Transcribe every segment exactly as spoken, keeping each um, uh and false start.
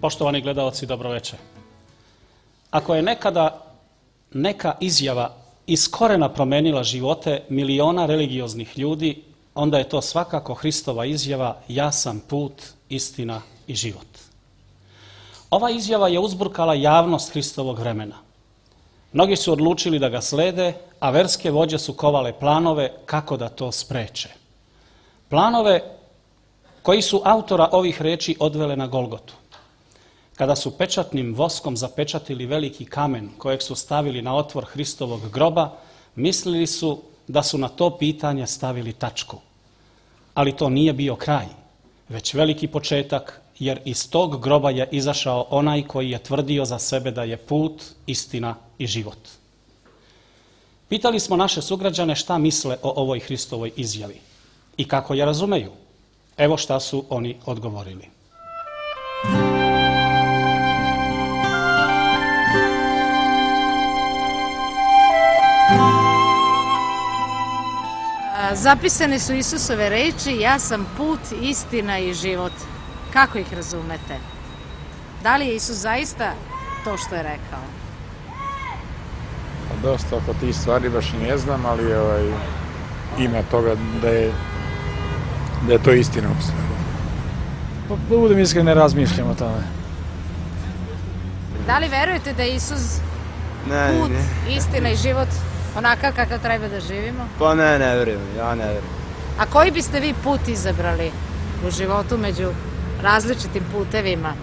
Poštovani gledaoci, dobroveče. Ako je nekada neka izjava iz korena promenila živote miliona religioznih ljudi, onda je to svakako Hristova izjava: ja sam put, istina i život. Ova izjava je uzburkala javnost Hristovog vremena. Mnogi su odlučili da ga slede, a verske vođe su kovale planove kako da to spreče. Planove koji su autora ovih reči odvele na Golgotu. Kada su pečatnim voskom zapečatili veliki kamen kojeg su stavili na otvor Hristovog groba, mislili su da su na to pitanje stavili tačku. Ali to nije bio kraj, već veliki početak, jer iz tog groba je izašao onaj koji je tvrdio za sebe da je put, istina i život. Pitali smo naše sugrađane šta misle o ovoj Hristovoj izjavi i kako je razumeju. Evo šta su oni odgovorili. Zapisane su Isusove reči: ja sam put, istina i život. Kako ih razumete? Da li je Isus zaista to što je rekao? Pa dosta oko tih stvari baš ne znam, ali ovaj, ima toga da je, da je to istina u stvari. Pa da budem iskren, ne razmišljam o tome. Da li verujete da je Isus ne, put, ne. istina i život onakav kakav treba da živimo? Pa ne, ne verujem, ja ne verujem. A koji biste vi put izabrali u životu među različitim putevima?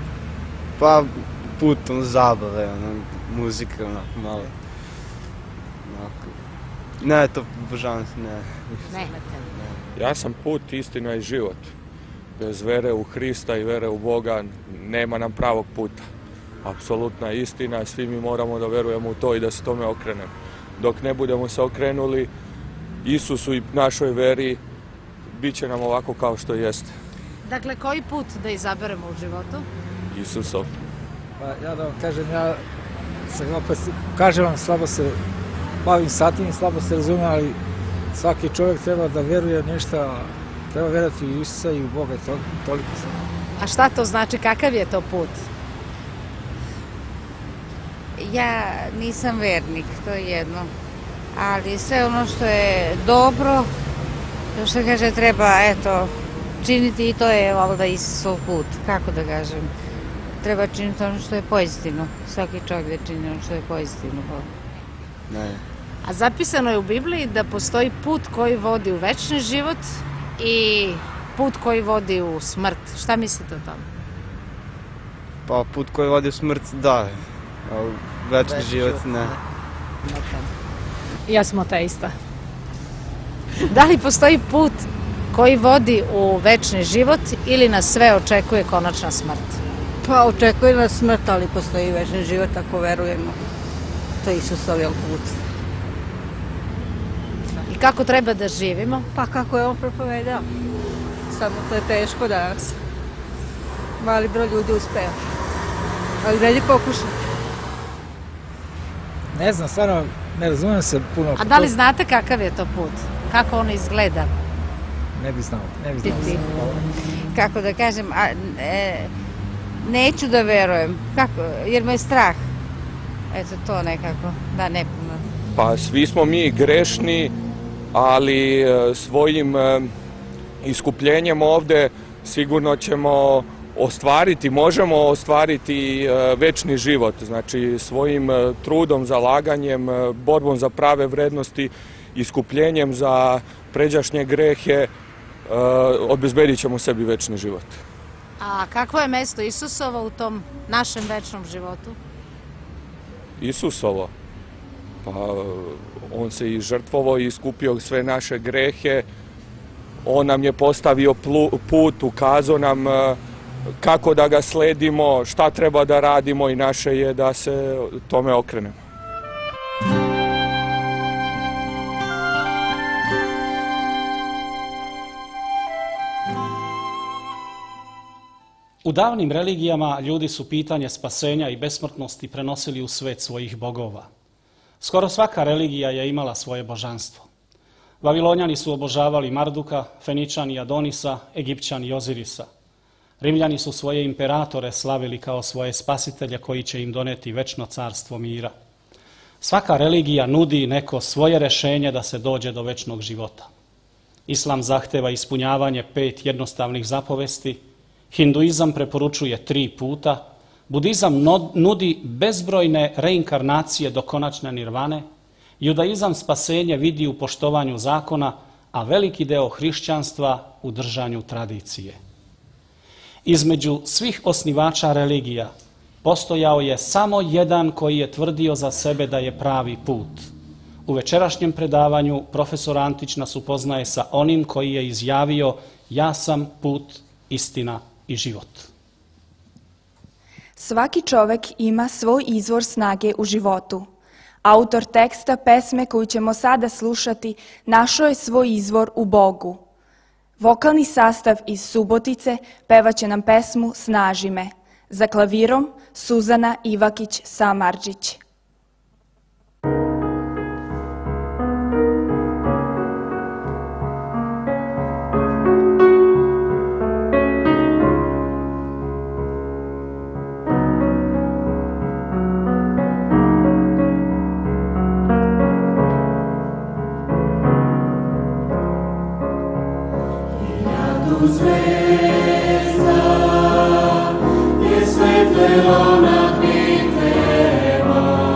Pa put ono, zabave, ono, muzika, onako malo. Onako. Ne, to božavam se, ne. Ne. Ja sam put, istina i život. Bez vere u Hrista i vere u Boga nema nam pravog puta. Apsolutna istina, svi mi moramo da verujemo u to i da se tome okrenemo. Dok ne budemo se okrenuli Isusu i našoj veri, bit će nam ovako kao što jeste. Dakle, koji put da izaberemo u životu? Isusov. Pa ja da vam kažem, ja se opet, kažem vam, slabo se bavim sa tim, slabo se razumijem, ali svaki čovjek treba da veruje nešto, treba verati u Isusa i u Boga, to, toliko sam. A šta to znači, kakav je to put? Ja nisam vernik, to je jedno, ali sve ono što je dobro, to što kaže treba, eto, činiti i to je valjda Isusov put, kako da kažem. Treba činiti ono što je pozitivno, svaki čovjek da čini ono što je pozitivno. Ne. A zapisano je u Bibliji da postoji put koji vodi u večni život i put koji vodi u smrt. Šta mislite o tome? Pa put koji vodi u smrt, da. A večni život, ne. Ja sam ateista. Da li postoji put koji vodi u večni život ili nas sve očekuje konačna smrt? Pa očekuje nas smrt, ali postoji večni život ako verujemo. To je Isusov put. I kako treba da živimo? Pa kako je on propovedao. Samo to je teško danas. Mali broj ljudi uspeo. Ali vredi pokušati. Ne znam, stvarno ne razumijem se puno. A da li znate kakav je to put? Kako on izgleda? Ne bi znao, ne bi znao. Kako da kažem, a, e, neću da verujem, kako, jer me je strah. Eto to nekako, da ne puno. Pa svi smo mi grešni, ali svojim iskupljenjem ovde sigurno ćemo ostvariti, možemo ostvariti večni život. Znači svojim trudom, zalaganjem, borbom za prave vrednosti, iskupljenjem za pređašnje grehe, obezbedit ćemo sebi večni život. A kakvo je mesto Isusova u tom našem večnom životu? Isusovo? Pa on se i žrtvovao i iskupio sve naše grehe. On nam je postavio put, ukazao nam kako da ga sledimo, šta treba da radimo i naše je da se tome okrenemo. U davnim religijama ljudi su pitanje spasenja i besmrtnosti prenosili u svet svojih bogova. Skoro svaka religija je imala svoje božanstvo. Vavilonjani su obožavali Marduka, Feničani Adonisa, Egipćani Ozirisa. Rimljani su svoje imperatore slavili kao svoje spasitelje koji će im doneti večno carstvo mira. Svaka religija nudi neko svoje rješenje da se dođe do večnog života. Islam zahteva ispunjavanje pet jednostavnih zapovesti, hinduizam preporučuje tri puta, budizam nudi bezbrojne reinkarnacije do konačne nirvane, judaizam spasenje vidi u poštovanju zakona, a veliki deo hrišćanstva u držanju tradicije. Između svih osnivača religija postojao je samo jedan koji je tvrdio za sebe da je pravi put. U večerašnjem predavanju profesor Antić nas upoznaje sa onim koji je izjavio: ja sam put, istina i život. Svaki čovek ima svoj izvor snage u životu. Autor teksta pesme koju ćemo sada slušati našao je svoj izvor u Bogu. Vokalni sastav iz Subotice pevaće nam pesmu Snaži me. Za klavirom Suzana Ivakić-Samardžić. Zvezda je svetlelo na knjitvema.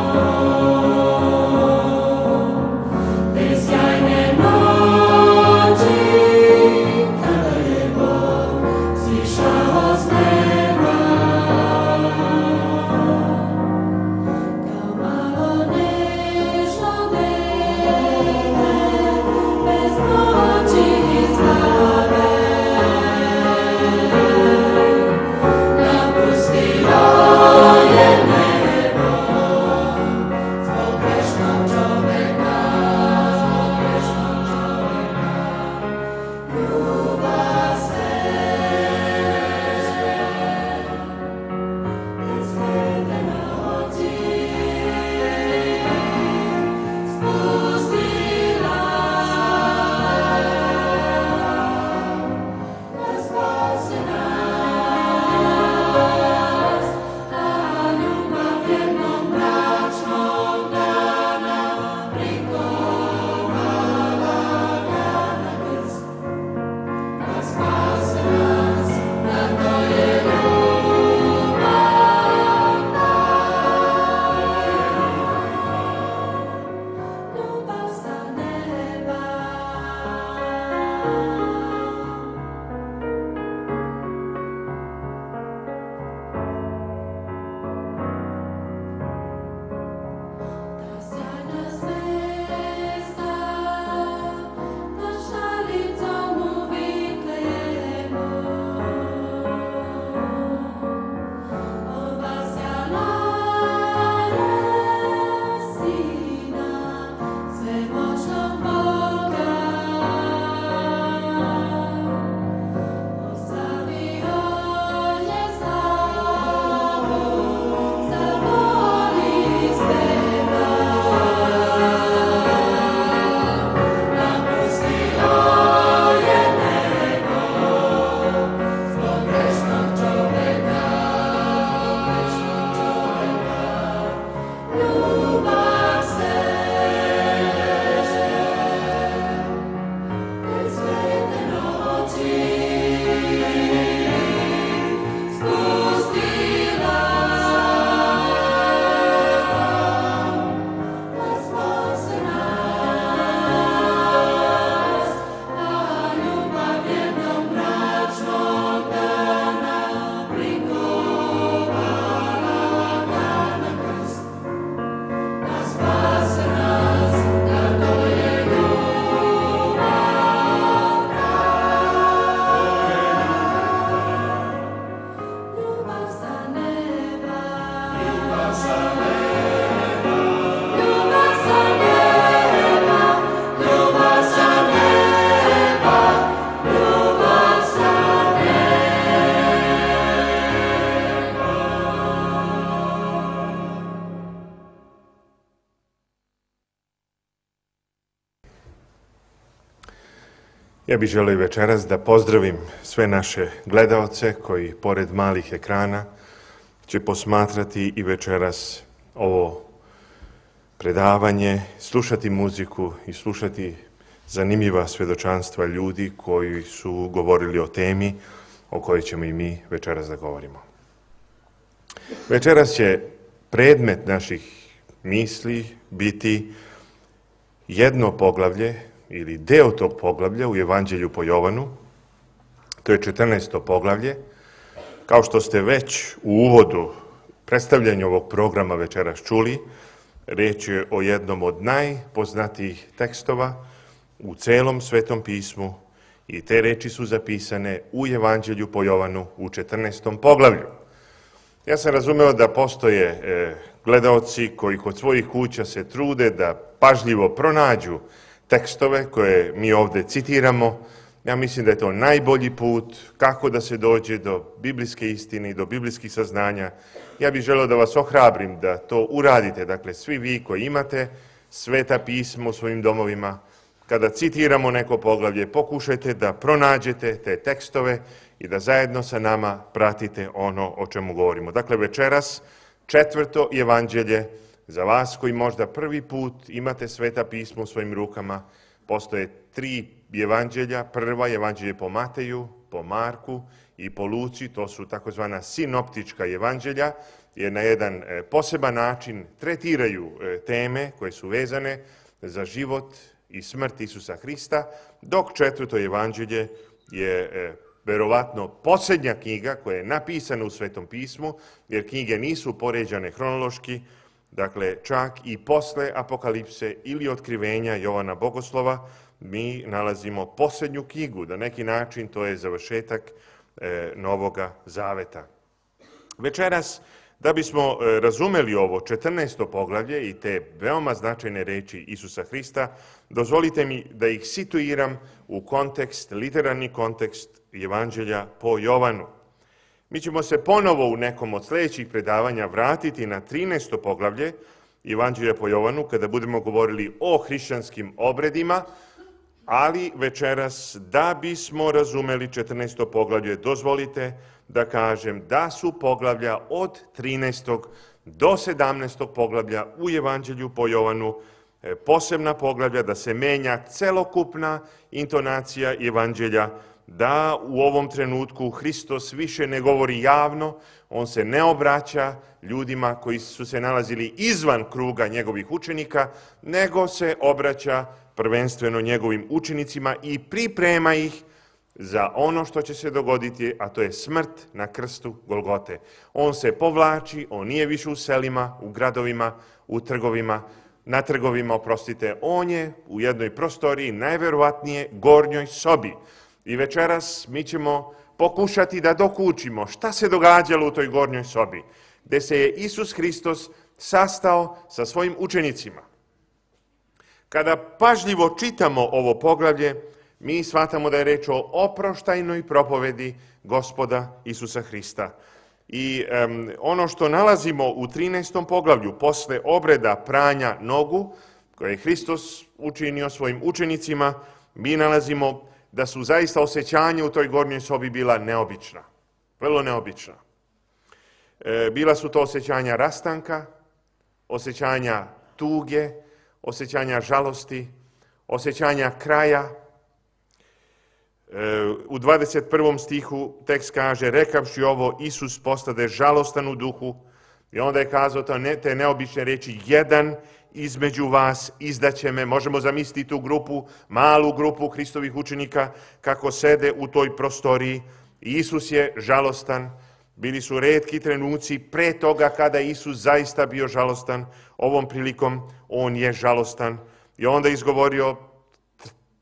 Ja bih želio večeras da pozdravim sve naše gledaoce koji pored malih ekrana će posmatrati i večeras ovo predavanje, slušati muziku i slušati zanimljiva svjedočanstva ljudi koji su govorili o temi o kojoj ćemo i mi večeras da govorimo. Večeras će predmet naših misli biti jedno poglavlje ili deo tog poglavlja u Evanđelju po Jovanu. To je četrnaesto poglavlje. Kao što ste već u uvodu predstavljanja ovog programa večeras čuli, reč je o jednom od najpoznatijih tekstova u celom Svetom pismu i te reči su zapisane u Evanđelju po Jovanu u četrnaestom poglavlju. Ja sam razumeo da postoje e, gledaoci koji kod svojih kuća se trude da pažljivo pronađu tekstove koje mi ovde citiramo. Ja mislim da je to najbolji put kako da se dođe do biblijske istine i do biblijskih saznanja. Ja bih želeo da vas ohrabrim da to uradite. Dakle, svi vi koji imate Sveta pisma u svojim domovima, kada citiramo neko poglavlje, pokušajte da pronađete te tekstove i da zajedno sa nama pratite ono o čemu govorimo. Dakle, večeras četvrto evanđelje za vas koji možda prvi put imate Sveta pisma u svojim rukama. Postoje tri evanđelja. Prva evanđelje po Mateju, po Marku i po Luci. To su takozvana sinoptička evanđelja, jer na jedan poseban način tretiraju teme koje su vezane za život i smrt Isusa Hrista, dok četvrto evanđelje je verovatno posljednja knjiga koja je napisana u Svetom pismu, jer knjige nisu poređane hronološki, dakle čak i posle Apokalipse ili otkrivenja Jovana Bogoslova mi nalazimo posljednju knjigu, na neki način to je završetak e, Novoga Zaveta. Večeras, da bismo razumeli ovo četrnaesto poglavlje i te veoma značajne reči Isusa Hrista, dozvolite mi da ih situiram u kontekst, literarni kontekst Evanđelja po Jovanu. Mi ćemo se ponovo u nekom od sljedećih predavanja vratiti na trinaesto poglavlje Evanđelja po Jovanu, kada budemo govorili o hrišćanskim obredima, ali večeras, da bismo razumeli četrnaesto poglavlje, dozvolite da kažem da su poglavlja od trinaestog do sedamnaestog poglavlja u Evanđelju po Jovanu posebna poglavlja, da se menja celokupna intonacija Evanđelja, da u ovom trenutku Hristos više ne govori javno, on se ne obraća ljudima koji su se nalazili izvan kruga njegovih učenika, nego se obraća prvenstveno njegovim učenicima i priprema ih za ono što će se dogoditi, a to je smrt na krstu Golgote. On se povlači, on nije više u selima, u gradovima, u trgovima, na trgovima, oprostite, on je u jednoj prostoriji, najverovatnije gornjoj sobi. I večeras mi ćemo pokušati da dokučimo šta se događalo u toj gornjoj sobi, gde se je Isus Hristos sastao sa svojim učenicima. Kada pažljivo čitamo ovo poglavlje, mi shvatamo da je reč o oproštajnoj propovedi Gospoda Isusa Hrista. I um, ono što nalazimo u trinaestom poglavlju, posle obreda pranja nogu, koje je Hristos učinio svojim učenicima, mi nalazimo da su zaista osjećanja u toj gornjoj sobi bila neobična, vrlo neobična. E, bila su to osjećanja rastanka, osjećanja tuge, osjećanja žalosti, osjećanja kraja. E, u dvadeset prvom stihu tekst kaže, rekavši ovo, Isus postade žalostan u duhu i onda je kazao to ne, te neobične reči, jedan između vas izdaće me. Možemo zamisliti tu grupu, malu grupu Hristovih učenika, kako sede u toj prostoriji. Isus je žalostan. Bili su retki trenuci pre toga kada Isus zaista bio žalostan. Ovom prilikom on je žalostan. I onda je izgovorio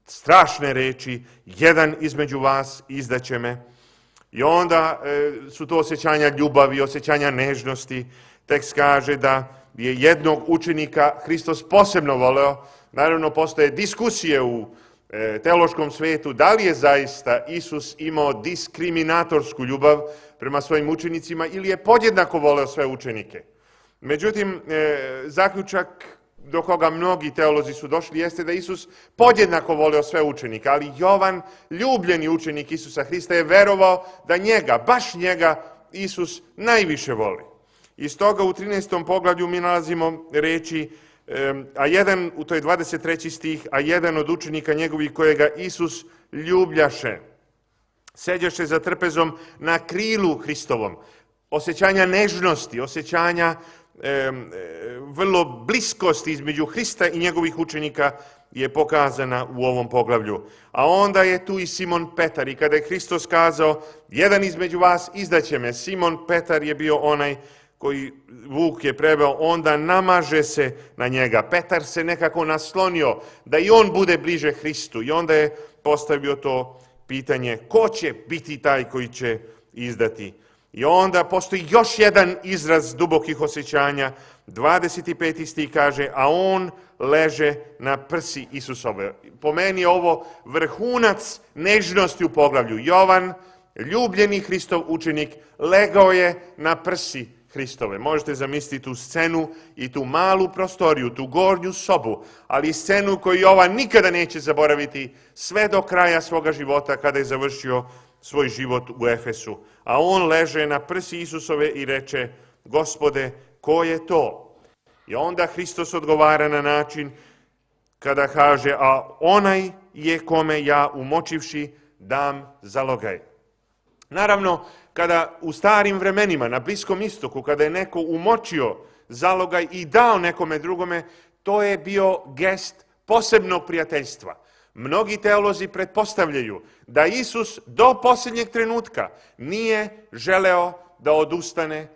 strašne reči, jedan između vas izdaće me. I onda e, su to osjećanja ljubavi, osjećanja nežnosti. Tekst kaže da je jednog učenika Hristos posebno voleo. Naravno, postoje diskusije u e, teološkom svetu da li je zaista Isus imao diskriminatorsku ljubav prema svojim učenicima ili je podjednako voleo sve učenike. Međutim, e, zaključak do koga mnogi teolozi su došli, jeste da Isus podjednako voleo sve učenike, ali Jovan, ljubljeni učenik Isusa Hrista, je verovao da njega, baš njega, Isus najviše voli. I stoga u trinaestom poglavlju mi nalazimo reči, a jedan, to je dvadeset treći stih, a jedan od učenika njegovih kojega Isus ljubljaše, seđaše za trpezom na krilu Hristovom, osjećanja nežnosti, osjećanja e, e, vrlo bliskosti između Hrista i njegovih učenika je pokazana u ovom poglavlju. A onda je tu i Simon Petar i kada je Hristos kazao, jedan između vas izdaće me, Simon Petar je bio onaj koji Vuk je preveo, onda namaže se na njega. Petar se nekako naslonio da i on bude bliže Hristu i onda je postavio to pitanje, ko će biti taj koji će izdati? I onda postoji još jedan izraz dubokih osjećanja, dvadeset peti stih kaže, a on leže na prsi Isusove. Po meni je ovo vrhunac nežnosti u poglavlju. Jovan, ljubljeni Hristov učenik, legao je na prsi Hristove. Možete zamisliti tu scenu i tu malu prostoriju, tu gornju sobu, ali scenu koju Jovan nikada neće zaboraviti sve do kraja svoga života kada je završio svoj život u Efesu. A on leže na prsi Isusove i reče, Gospode, ko je to? I onda Hristos odgovara na način kada kaže, a onaj je kome ja umočivši dam zalogaj. Naravno, kada u starim vremenima na Bliskom istoku, kada je neko umočio zalogaj i dao nekome drugome, to je bio gest posebnog prijateljstva. Mnogi teolozi pretpostavljaju da Isus do posljednjeg trenutka nije želeo da odustane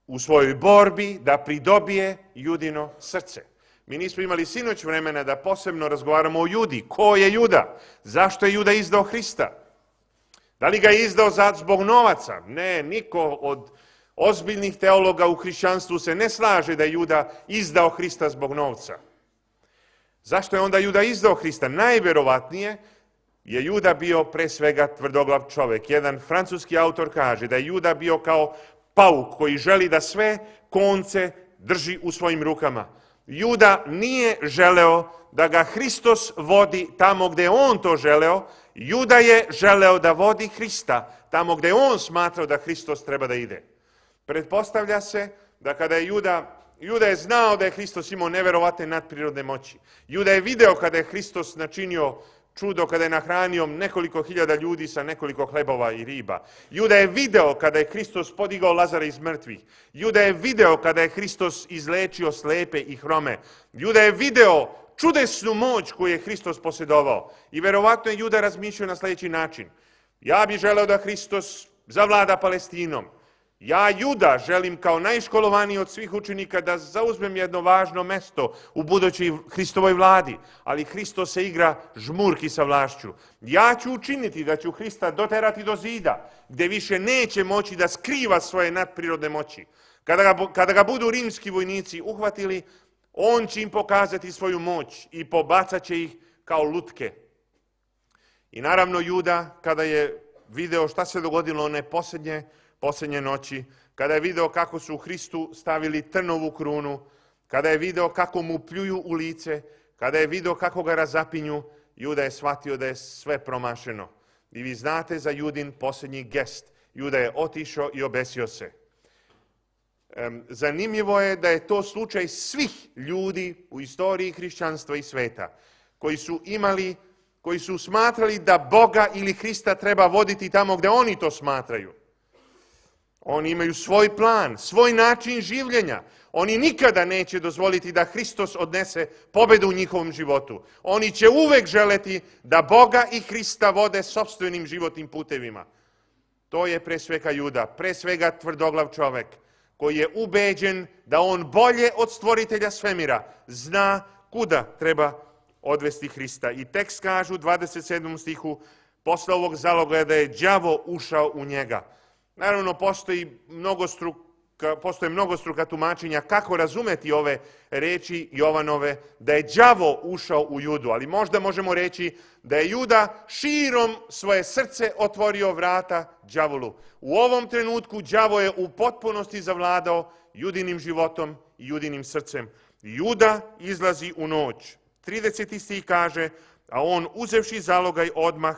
u svojoj borbi, da pridobije Judino srce. Mi nismo imali sinoć vremena da posebno razgovaramo o Judi. Ko je Juda? Zašto je Juda izdao Hrista? Da li ga je izdao zbog novaca? Ne, niko od ozbiljnih teologa u hrišćanstvu se ne slaže da je Juda izdao Hrista zbog novca. Zašto je onda Juda izdao Hrista? Najverovatnije je Juda bio pre svega tvrdoglav čovjek. Jedan francuski autor kaže da je Juda bio kao pauk koji želi da sve konce drži u svojim rukama. Juda nije želeo da ga Hristos vodi tamo gdje on to želeo. Juda je želeo da vodi Hrista tamo gdje on smatrao da Hristos treba da ide. Pretpostavlja se da kada je Juda, Juda je znao da je Hristos imao neverovatne nadprirodne moći. Juda je video kada je Hristos načinio čudo, kada je nahranio nekoliko hiljada ljudi sa nekoliko hlebova i riba. Juda je video kada je Hristos podigao Lazara iz mrtvih. Juda je video kada je Hristos izlečio slepe i hrome. Juda je video čudesnu moć koju je Hristos posjedovao. I verovatno je Juda razmišljao na sljedeći način. Ja bih želeo da Hristos zavlada Palestinom. Ja, Juda, želim kao najškolovaniji od svih učenika da zauzmem jedno važno mesto u budućoj Hristovoj vladi, ali Hristos se igra žmurki sa vlašću. Ja ću učiniti da ću Hrista doterati do zida, gdje više neće moći da skriva svoje nadprirodne moći. Kada ga, kada ga budu rimski vojnici uhvatili, on će im pokazati svoju moć i pobacat će ih kao lutke. I naravno Juda, kada je video šta se dogodilo one posljednje, posljednje noći, kada je video kako su u Hristu stavili trnovu krunu, kada je video kako mu pljuju u lice, kada je video kako ga razapinju, Juda je shvatio da je sve promašeno. I vi znate za Judin posljednji gest. Juda je otišao i obesio se. Zanimljivo je da je to slučaj svih ljudi u istoriji hrišćanstva i sveta, koji su imali, koji su smatrali da Boga ili Hrista treba voditi tamo gdje oni to smatraju. Oni imaju svoj plan, svoj način življenja. Oni nikada neće dozvoliti da Hristos odnese pobedu u njihovom životu. Oni će uvek želeti da Boga i Hrista vode sopstvenim životnim putevima. To je pre svega Juda, pre svega tvrdoglav čovek, koji je ubeđen da on bolje od stvoritelja svemira zna kuda treba odvesti Hrista. I tekst kaže u dvadeset sedmom stihu, posle ovog zalogaja da je đavo ušao u njega. Naravno, postoji mnogostruka, postoje mnogostruka tumačenja kako razumeti ove reči Jovanove, da je đavo ušao u Judu, ali možda možemo reći da je Juda širom svoje srce otvorio vrata đavolu. U ovom trenutku đavo je u potpunosti zavladao Judinim životom i Judinim srcem. Juda izlazi u noć. trideseti stih kaže, a on uzevši zalogaj odmah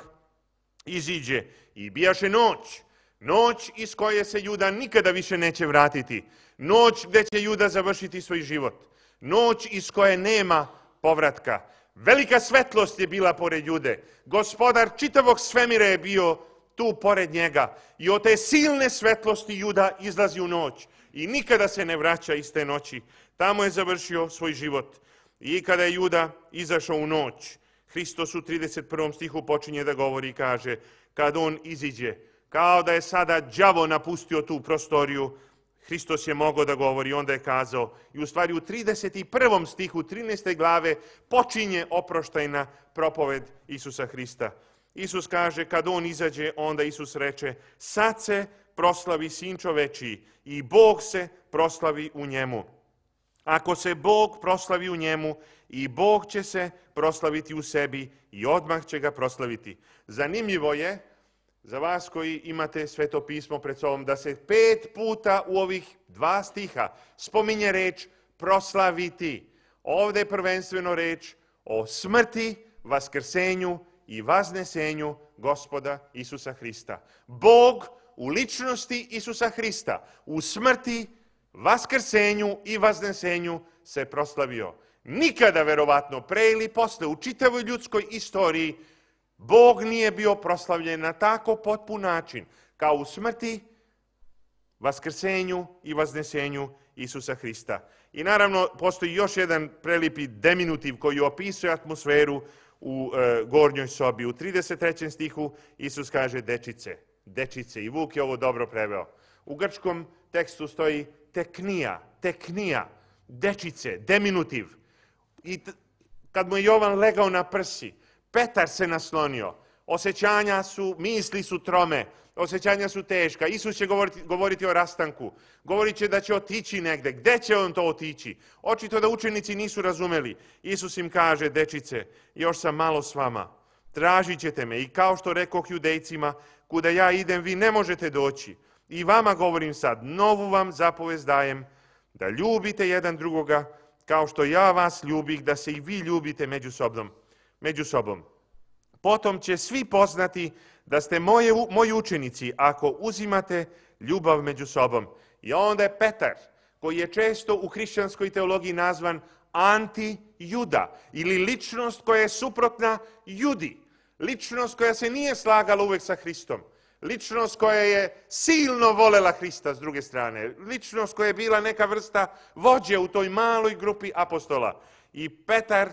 iziđe i bijaše noć. Noć iz koje se Juda nikada više neće vratiti. Noć gdje će Juda završiti svoj život. Noć iz koje nema povratka. Velika svetlost je bila pored Jude. Gospodar čitavog svemira je bio tu pored njega. I od te silne svetlosti Juda izlazi u noć. I nikada se ne vraća iz te noći. Tamo je završio svoj život. I kada je Juda izašao u noć, Hristos u trideset prvom stihu počinje da govori i kaže, kad on iziđe, kao da je sada đavo napustio tu prostoriju, Hristos je mogao da govori, onda je kazao, i u stvari u trideset prvom stihu trinaeste glave počinje oproštajna propoved Isusa Hrista. Isus kaže, kad on izađe, onda Isus reče, sad se proslavi Sin čovečiji i Bog se proslavi u njemu. Ako se Bog proslavi u njemu, i Bog će se proslaviti u sebi i odmah će ga proslaviti. Zanimljivo je, za vas koji imate Sveto pismo pred sobom, da se pet puta u ovih dva stiha spominje reč proslaviti. Ovdje je prvenstveno reč o smrti, vaskrsenju i vaznesenju Gospoda Isusa Hrista. Bog u ličnosti Isusa Hrista, u smrti, vaskrsenju i vaznesenju se proslavio. Nikada, verovatno, pre ili posle, u čitavoj ljudskoj istoriji, Bog nije bio proslavljen na tako potpun način, kao u smrti, vaskrsenju i vaznesenju Isusa Hrista. I naravno, postoji još jedan prelipi deminutiv koji opisuje atmosferu u e, gornjoj sobi. U trideset trećem stihu Isus kaže dečice, dečice, i Vuk je ovo dobro preveo. U grčkom tekstu stoji teknija, teknija, dečice, deminutiv. I kad mu je Jovan legao na prsi, Petar se naslonio. Osjećanja su, misli su trome, osjećanja su teška. Isus će govoriti, govoriti o rastanku. Govorit će da će otići negde. Gde će on to otići? Očito da učenici nisu razumeli. Isus im kaže, dečice, još sam malo s vama. Tražit ćete me i kao što rekoh Judejcima, kuda ja idem, vi ne možete doći. I vama govorim sad, novu vam zapovest dajem, da ljubite jedan drugoga, kao što ja vas ljubih, da se i vi ljubite među sobom. Među sobom. Potom će svi poznati da ste moje, moji učenici ako uzimate ljubav među sobom. I onda je Petar, koji je često u hrišćanskoj teologiji nazvan anti-Juda, ili ličnost koja je suprotna Judi. Ličnost koja se nije slagala uvek sa Hristom. Ličnost koja je silno volela Hrista s druge strane. Ličnost koja je bila neka vrsta vođe u toj maloj grupi apostola. I Petar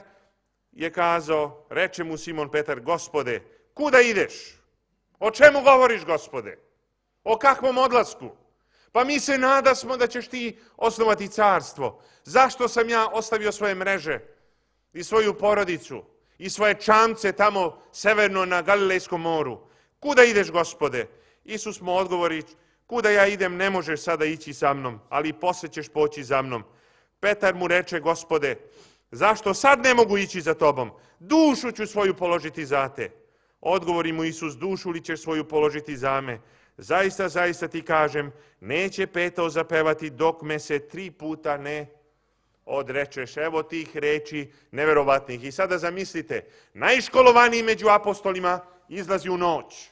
je kazao, reče mu Simon Petar, Gospode, kuda ideš? O čemu govoriš, Gospode? O kakvom odlasku? Pa mi se nadasmo da ćeš ti osnovati carstvo. Zašto sam ja ostavio svoje mreže i svoju porodicu i svoje čamce tamo severno na Galilejskom moru? Kuda ideš, Gospode? Isus mu odgovori, kuda ja idem ne možeš sada ići sa mnom, ali posle ćeš poći za mnom. Petar mu reče, Gospode, zašto sad ne mogu ići za tobom? Dušu ću svoju položiti za te. Odgovori mu Isus, dušu li ćeš svoju položiti za me? Zaista, zaista ti kažem, neće petao zapevati dok me se tri puta ne odrečeš. Evo tih reči neverovatnih. I sada zamislite, najškolovaniji među apostolima izlazi u noć.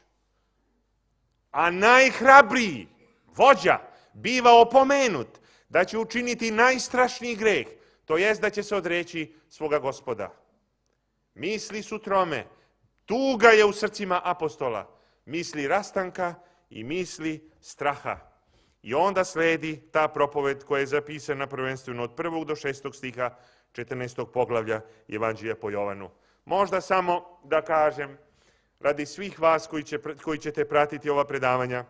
A najhrabriji vođa biva opomenut da će učiniti najstrašniji greh, to jest da će se odreći svoga Gospoda. Misli su trome, tuga je u srcima apostola, misli rastanka i misli straha. I onda sledi ta propoved koja je zapisana prvenstveno od prvog do šestog stiha četrnaestog poglavlja Evanđelja po Jovanu. Možda samo da kažem, radi svih vas koji, će, koji ćete pratiti ova predavanja,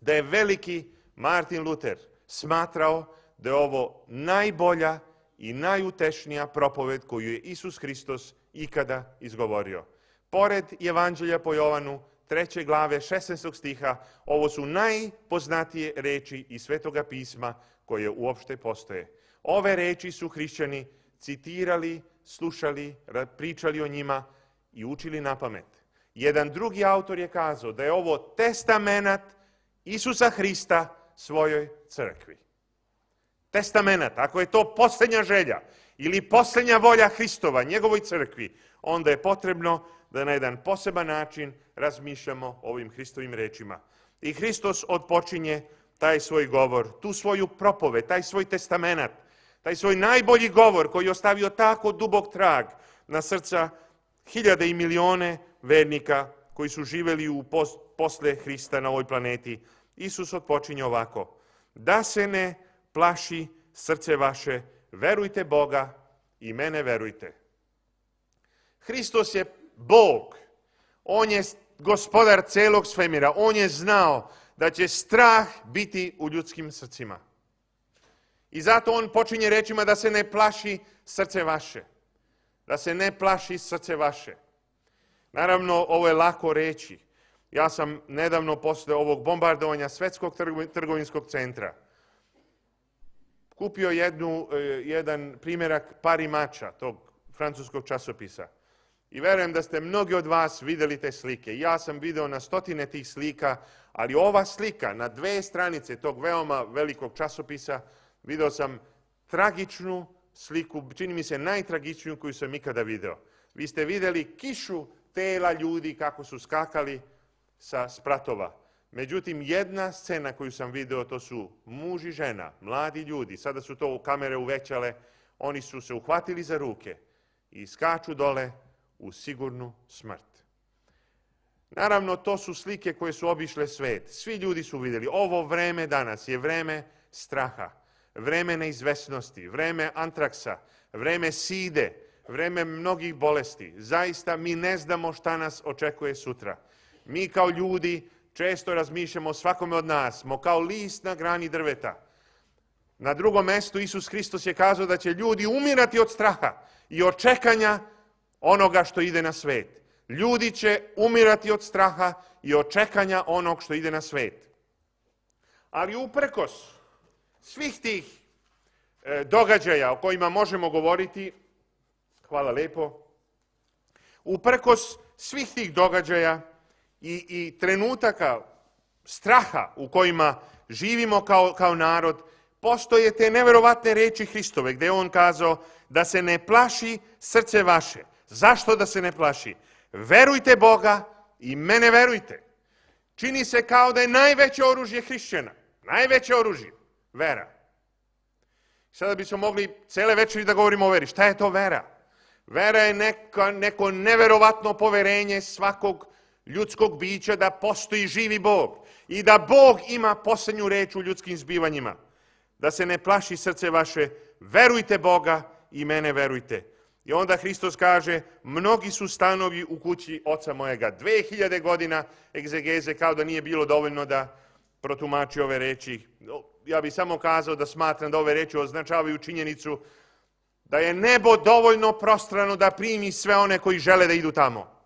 da je veliki Martin Luther smatrao da je ovo najbolja i najutešnija propoved koju je Isus Hristos ikada izgovorio. Pored Evanđelja po Jovanu, treće glave, šesnaestog stiha, ovo su najpoznatije reči iz Svetoga pisma koje uopšte postoje. Ove reči su hrišćani citirali, slušali, pričali o njima i učili na pamet. Jedan drugi autor je kazao da je ovo testamenat Isusa Hrista svojoj crkvi. testamenat, ako je to posljednja želja ili posljednja volja Hristova, njegovoj crkvi, onda je potrebno da na jedan poseban način razmišljamo o ovim Hristovim rečima. I Hristos odpočinje taj svoj govor, tu svoju propoved, taj svoj testamenat, taj svoj najbolji govor koji je ostavio tako dubok trag na srca hiljade i milione vernika koji su živjeli u pos, posle Hrista na ovoj planeti. Isus odpočinje ovako: da se ne plaši srce vaše, verujte Boga i mene verujte. Hristos je Bog, on je gospodar celog svemira, on je znao da će strah biti u ljudskim srcima. I zato on počinje rečima da se ne plaši srce vaše. Da se ne plaši srce vaše. Naravno, ovo je lako reći. Ja sam nedavno posle ovog bombardovanja Svetskog trgovinskog centra kupio jednu, jedan primjerak Parimača, tog francuskog časopisa. I verujem da ste mnogi od vas vidjeli te slike. Ja sam video na stotine tih slika, ali ova slika na dve stranice tog veoma velikog časopisa, video sam tragičnu sliku, čini mi se najtragičniju koju sam ikada video. Vi ste vidjeli kišu tela ljudi kako su skakali sa spratova. Međutim, jedna scena koju sam video, to su muž i žena, mladi ljudi, sada su to kamere uvećale, oni su se uhvatili za ruke i skaču dole u sigurnu smrt. Naravno, to su slike koje su obišle svet. Svi ljudi su vidjeli. Ovo vreme danas je vreme straha, vreme neizvesnosti, vreme antraksa, vreme side, vreme mnogih bolesti. Zaista mi ne znamo šta nas očekuje sutra. Mi kao ljudi često razmišljamo o svakome od nas, smo kao list na grani drveta. Na drugom mjestu Isus Hristos je kazao da će ljudi umirati od straha i očekanja onoga što ide na svet. Ljudi će umirati od straha i očekanja onog što ide na svet. Ali uprkos svih tih e, događaja o kojima možemo govoriti, hvala lepo, uprkos svih tih događaja i, i trenutaka straha u kojima živimo kao, kao narod, postoje te neverovatne reči Hristove, gdje je on kazao da se ne plaši srce vaše. Zašto da se ne plaši? Verujte Boga i mene verujte. Čini se kao da je najveće oružje hrišćana, najveće oružje, vera. Sada bismo mogli cele večeri da govorimo o veri. Šta je to vera? Vera je neka, neko neverovatno poverenje svakog ljudskog bića da postoji živi Bog i da Bog ima posljednju reč u ljudskim zbivanjima. Da se ne plaši srce vaše, verujte Boga i mene verujte. I onda Hristos kaže, mnogi su stanovi u kući oca mojega. Dve hiljade godina egzegeze, kao da nije bilo dovoljno da protumači ove reči. Ja bih samo kazao da smatram da ove reči označavaju činjenicu da je nebo dovoljno prostrano da primi sve one koji žele da idu tamo.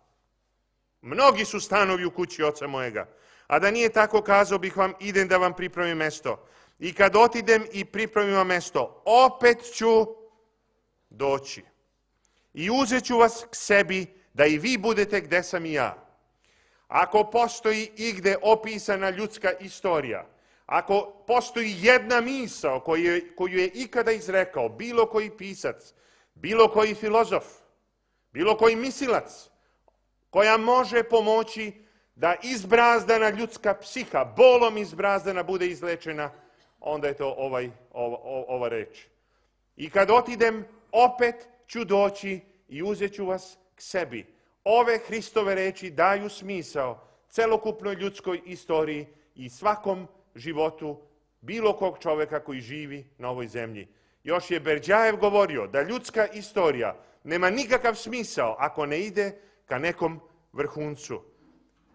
Mnogi su stanovi u kući oca mojega. A da nije tako, kazao bih vam, idem da vam pripremim mesto. I kad otidem i pripremim vam mesto, opet ću doći. I uzet ću vas k sebi, da i vi budete gde sam i ja. Ako postoji igde opisana ljudska istorija, ako postoji jedna misao koju je, koju je ikada izrekao bilo koji pisac, bilo koji filozof, bilo koji mislilac, koja može pomoći da izbrazdana ljudska psiha, bolom izbrazdana, bude izlečena, onda je to ovaj, ova, ova reč. I kad otidem, opet ću doći i uzet ću vas k sebi. Ove Hristove reči daju smisao celokupnoj ljudskoj istoriji i svakom životu bilo kog čovjeka koji živi na ovoj zemlji. Još je Berdjajev govorio da ljudska istorija nema nikakav smisao ako ne ide ka nekom vrhuncu.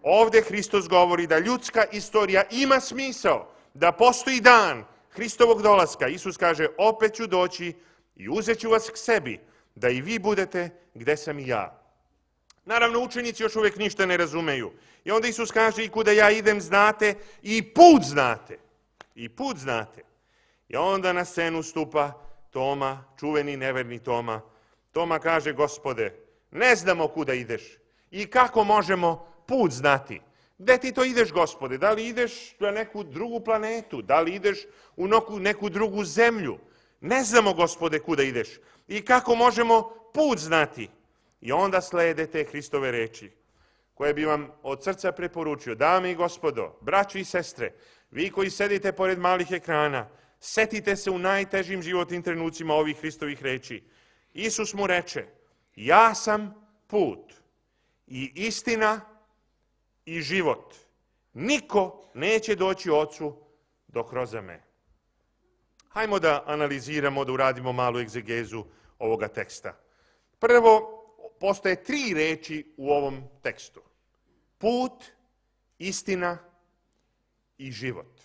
Ovdje Hristos govori da ljudska istorija ima smisao, da postoji dan Hristovog dolaska. Isus kaže, opet ću doći i uzet ću vas k sebi, da i vi budete gde sam i ja. Naravno, učenici još uvijek ništa ne razumeju. I onda Isus kaže, i kuda ja idem znate, i put znate. I put znate. I onda na scenu stupa Toma, čuveni neverni Toma. Toma kaže, Gospode, ne znamo kuda ideš. I kako možemo put znati? Gde ti to ideš, Gospode? Da li ideš na neku drugu planetu? Da li ideš u neku, neku drugu zemlju? Ne znamo, Gospode, kuda ideš. I kako možemo put znati? I onda slede te Hristove reči, koje bi vam od srca preporučio. Dame i gospodo, braći i sestre, vi koji sedite pored malih ekrana, setite se u najtežim životnim trenucima ovih Hristovih reči. Isus mu reče, ja sam put i istina i život. Niko neće doći Ocu dok kroz me. Hajmo da analiziramo, da uradimo malu egzegezu ovoga teksta. Prvo, postoje tri reči u ovom tekstu. Put, istina i život.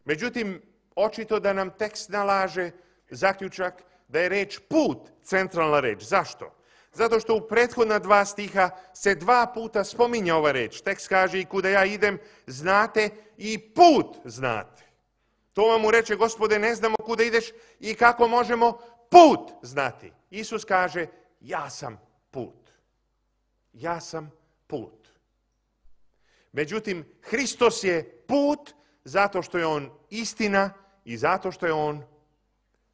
Međutim, očito da nam tekst nalaže zaključak da je reč put centralna reč. Zašto? Zato što u prethodna dva stiha se dva puta spominje ova reč. Tekst kaže i kuda ja idem znate i put znate. To vam mu reče, Gospode, ne znamo kuda ideš i kako možemo put znati. Isus kaže, ja sam put. Ja sam put. Međutim, Hristos je put zato što je on istina i zato što je on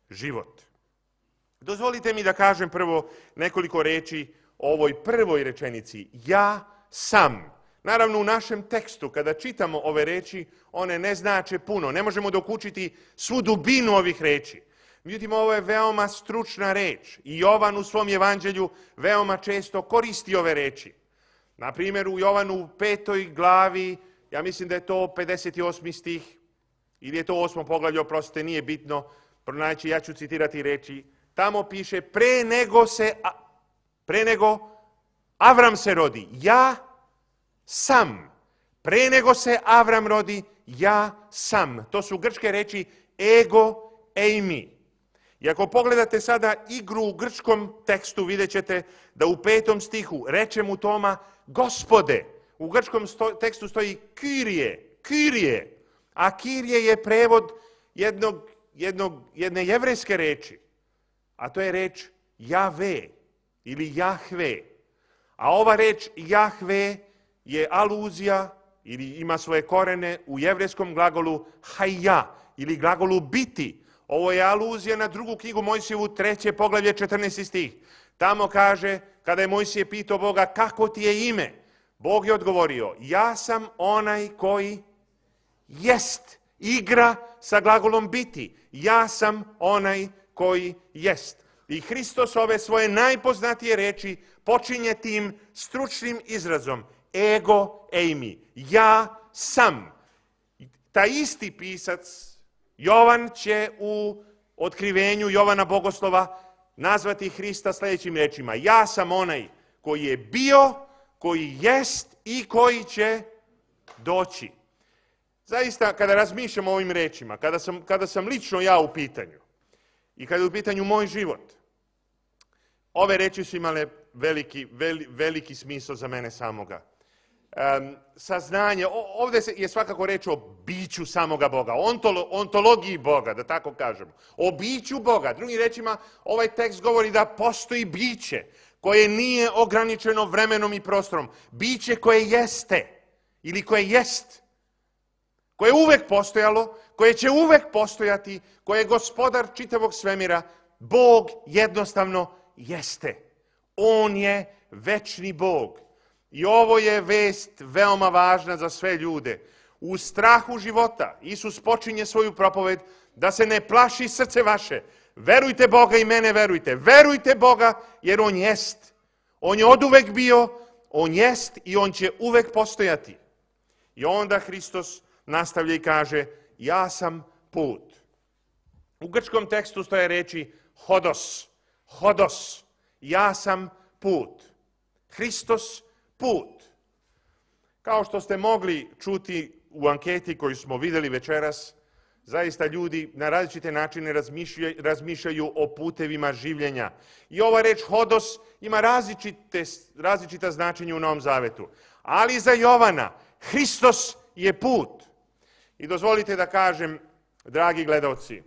život. Dozvolite mi da kažem prvo nekoliko reči o ovoj prvoj rečenici. Ja sam. Naravno, u našem tekstu, kada čitamo ove reči, one ne znače puno. Ne možemo dokučiti svu dubinu ovih reči. Međutim, ovo je veoma stručna reč. I Jovan u svom evanđelju veoma često koristi ove reči. Na primjer, u Jovanu u petoj glavi, ja mislim da je to pedeset osmi stih, ili je to osmo poglavlje, oprostite, nije bitno, pronaći, ja ću citirati reči. Tamo piše, pre nego se, pre nego Avram se rodi, ja sam. Pre nego se Avram rodi, ja sam. To su grčke reči ego eimi. I ako pogledate sada igru u grčkom tekstu, vidjet ćete da u petom stihu reče mu Toma, Gospode, u grčkom sto, tekstu stoji Kirije, Kirije, a Kirije je prevod jednog, jednog, jedne jevrejske reči, a to je reč Jave ili Jahve. A ova reč Jahve je aluzija ili ima svoje korene u jevrejskom glagolu hajja ili glagolu biti. Ovo je aluzija na drugu knjigu Mojsijevu, treće poglavlje, četrnaesti stih. Tamo kaže, kada je Mojsije pitao Boga, kako ti je ime? Bog je odgovorio, ja sam onaj koji jest. Igra sa glagolom biti. Ja sam onaj koji jest. I Hristos ove svoje najpoznatije reči počinje tim stručnim izrazom. Ego eimi. Ja sam. Taj isti pisac, Jovan, će u otkrivenju Jovana Bogoslova nazvati Hrista sljedećim rečima. Ja sam onaj koji je bio, koji jest i koji će doći. Zaista, kada razmišljam o ovim rečima, kada sam, kada sam lično ja u pitanju i kada je u pitanju moj život, ove reči su imale veliki, veli, veliki smisao za mene samoga. Um, saznanje, ovdje je svakako reč o biću samoga Boga, ontolo, ontologiji Boga, da tako kažemo, o biću Boga. Drugim rečima, ovaj tekst govori da postoji biće koje nije ograničeno vremenom i prostorom, biće koje jeste ili koje jest, koje je uvek postojalo, koje će uvek postojati, koje je gospodar čitavog svemira. Bog jednostavno jeste. On je večni Bog. I ovo je vest veoma važna za sve ljude. U strahu života Isus počinje svoju propoved da se ne plaši srce vaše. Verujte Boga i mene verujte. Verujte Boga jer On jest. On je oduvek bio, On jest i On će uvek postojati. I onda Hristos nastavlja i kaže, ja sam put. U grčkom tekstu stoje reči hodos, hodos, ja sam put. Hristos put. Kao što ste mogli čuti u anketi koju smo vidjeli večeras, zaista ljudi na različite načine razmišljaju, razmišljaju o putevima življenja. I ova reč hodos ima različite, različita značenja u Novom Zavetu. Ali za Jovana, Hristos je put. I dozvolite da kažem, dragi gledalci,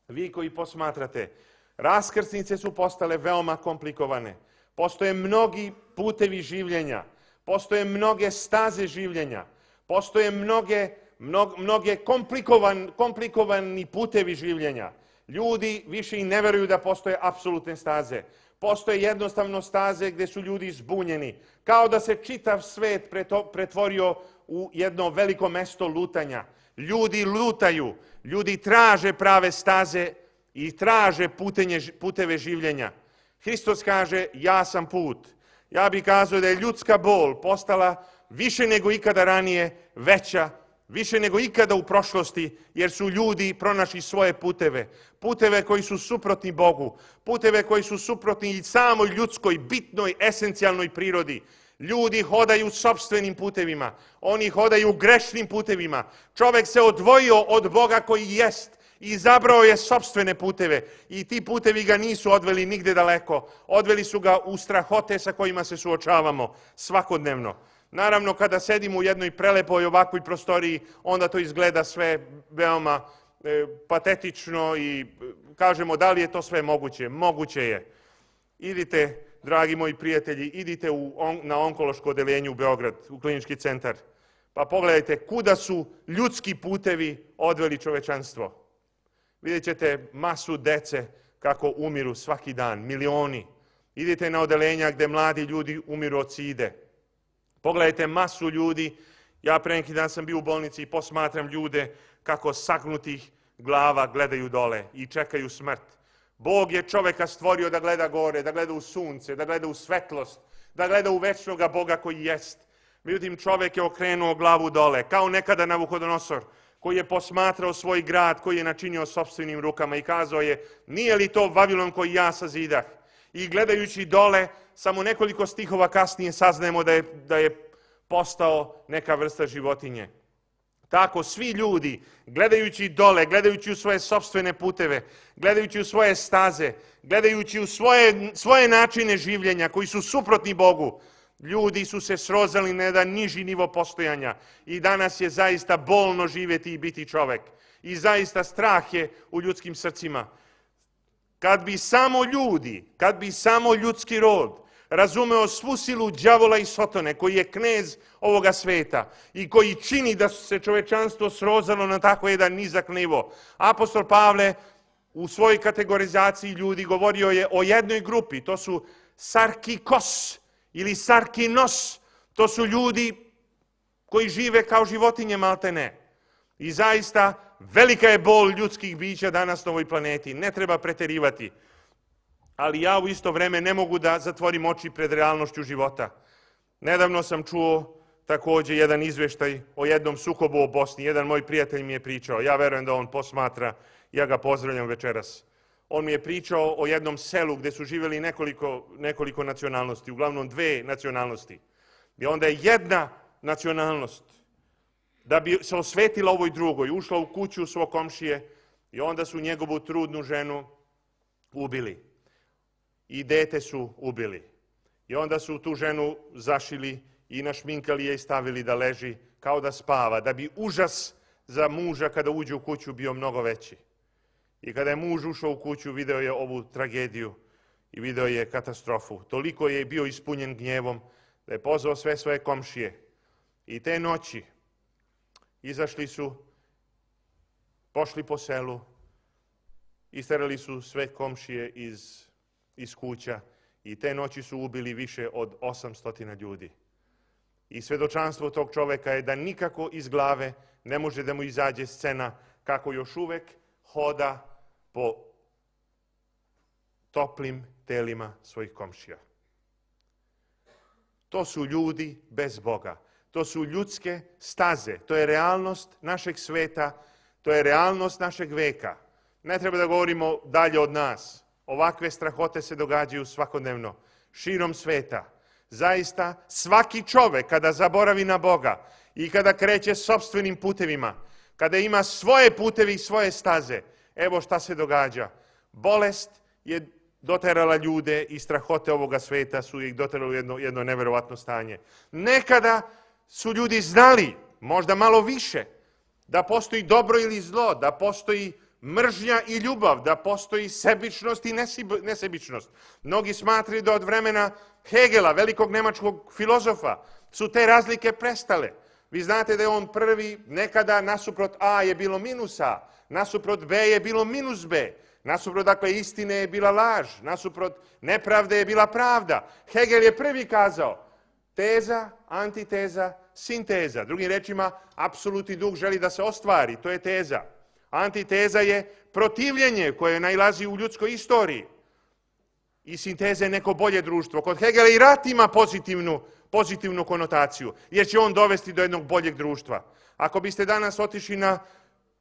vi koji posmatrate, raskrsnice su postale veoma komplikovane. Postoje mnogi putevi življenja. postoje mnoge staze življenja, postoje mnoge, mnog, mnoge komplikovan, komplikovani putevi življenja. Ljudi više i ne veruju da postoje apsolutne staze. Postoje jednostavno staze gdje su ljudi zbunjeni, kao da se čitav svet pretvorio u jedno veliko mesto lutanja. Ljudi lutaju, ljudi traže prave staze i traže putenje, puteve življenja. Hristos kaže, ja sam put. Ja bih kazao da je ljudska bol postala više nego ikada ranije veća, više nego ikada u prošlosti, jer su ljudi pronašli svoje puteve. Puteve koji su suprotni Bogu, puteve koji su suprotni i samoj ljudskoj, bitnoj, esencijalnoj prirodi. Ljudi hodaju sopstvenim putevima, oni hodaju grešnim putevima. Čovjek se odvojio od Boga koji jest i izabrao je sopstvene puteve. I ti putevi ga nisu odveli nigde daleko, odveli su ga u strahote sa kojima se suočavamo svakodnevno. Naravno, kada sedimo u jednoj prelepoj ovakvoj prostoriji, onda to izgleda sve veoma e, patetično i kažemo da li je to sve moguće. Moguće je. Idite, dragi moji prijatelji, idite u, on, na onkološko odeljenje u Beograd, u klinički centar, pa pogledajte kuda su ljudski putevi odveli čovečanstvo. Vidjet ćete masu dece kako umiru svaki dan, milioni. Idite na odelenja gdje mladi ljudi umiru od side. Pogledajte masu ljudi, ja pre neki dan sam bio u bolnici i posmatram ljude kako sagnutih glava gledaju dole i čekaju smrt. Bog je čoveka stvorio da gleda gore, da gleda u sunce, da gleda u svetlost, da gleda u večnoga Boga koji jest. Međutim, čovek je okrenuo glavu dole, kao nekada Navuhodonosor, koji je posmatrao svoj grad, koji je načinio sopstvenim rukama i kazao je, nije li to Vavilon koji ja sazidah? I gledajući dole, samo nekoliko stihova kasnije saznajemo da je, da je postao neka vrsta životinje. Tako svi ljudi, gledajući dole, gledajući u svoje sopstvene puteve, gledajući u svoje staze, gledajući u svoje, svoje načine življenja koji su suprotni Bogu, ljudi su se srozali na jedan niži nivo postojanja i danas je zaista bolno živjeti i biti čovek. I zaista strah je u ljudskim srcima. Kad bi samo ljudi, kad bi samo ljudski rod razumeo svu silu đavola i sotone, koji je knez ovoga sveta i koji čini da se čovečanstvo srozalo na tako jedan nizak nivo. Apostol Pavle u svojoj kategorizaciji ljudi govorio je o jednoj grupi, to su sarkikos ili sarkinos, to su ljudi koji žive kao životinje maltene. I zaista velika je bol ljudskih bića danas na ovoj planeti, ne treba preterivati. Ali ja u isto vreme ne mogu da zatvorim oči pred realnošću života. Nedavno sam čuo također jedan izveštaj o jednom sukobu u Bosni. Jedan moj prijatelj mi je pričao, ja verujem da on posmatra, ja ga pozdravljam večeras. On mi je pričao o jednom selu gdje su živjeli nekoliko, nekoliko nacionalnosti, uglavnom dve nacionalnosti. I onda je jedna nacionalnost, da bi se osvetila ovoj drugoj, ušla u kuću svog komšije i onda su njegovu trudnu ženu ubili. I dete su ubili. I onda su tu ženu zašili i našminkali je i stavili da leži kao da spava, da bi užas za muža kada uđe u kuću bio mnogo veći. I kada je muž ušao u kuću, video je ovu tragediju i video je katastrofu. Toliko je bio ispunjen gnjevom da je pozvao sve svoje komšije. I te noći izašli su, pošli po selu, isterali su sve komšije iz iz kuća i te noći su ubili više od osamsto ljudi. I svedočanstvo tog čoveka je da nikako iz glave ne može da mu izađe scena kako još uvek hoda po toplim telima svojih komšija. To su ljudi bez Boga. To su ljudske staze. To je realnost našeg sveta. To je realnost našeg veka. Ne treba da govorimo dalje od nas. Ovakve strahote se događaju svakodnevno, širom sveta. Zaista, svaki čovek kada zaboravi na Boga i kada kreće sopstvenim putevima, kada ima svoje putevi i svoje staze, evo šta se događa. Bolest je doterala ljude i strahote ovoga sveta su ih doterali u jedno, jedno neverovatno stanje. Nekada su ljudi znali, možda malo više, da postoji dobro ili zlo, da postoji mržnja i ljubav, da postoji sebičnost i nesebičnost. Mnogi smatraju da od vremena Hegela, velikog nemačkog filozofa, su te razlike prestale. Vi znate da je on prvi, nekada nasuprot A je bilo minus A, nasuprot B je bilo minus B, nasuprot, dakle, istine je bila laž, nasuprot nepravde je bila pravda. Hegel je prvi kazao teza, antiteza, sinteza. Drugim rečima, apsolutni duh želi da se ostvari, to je teza. Antiteza je protivljenje koje nailazi u ljudskoj istoriji. I sinteza je neko bolje društvo. Kod Hegela i rat ima pozitivnu, pozitivnu konotaciju, jer će on dovesti do jednog boljeg društva. Ako biste danas otišli na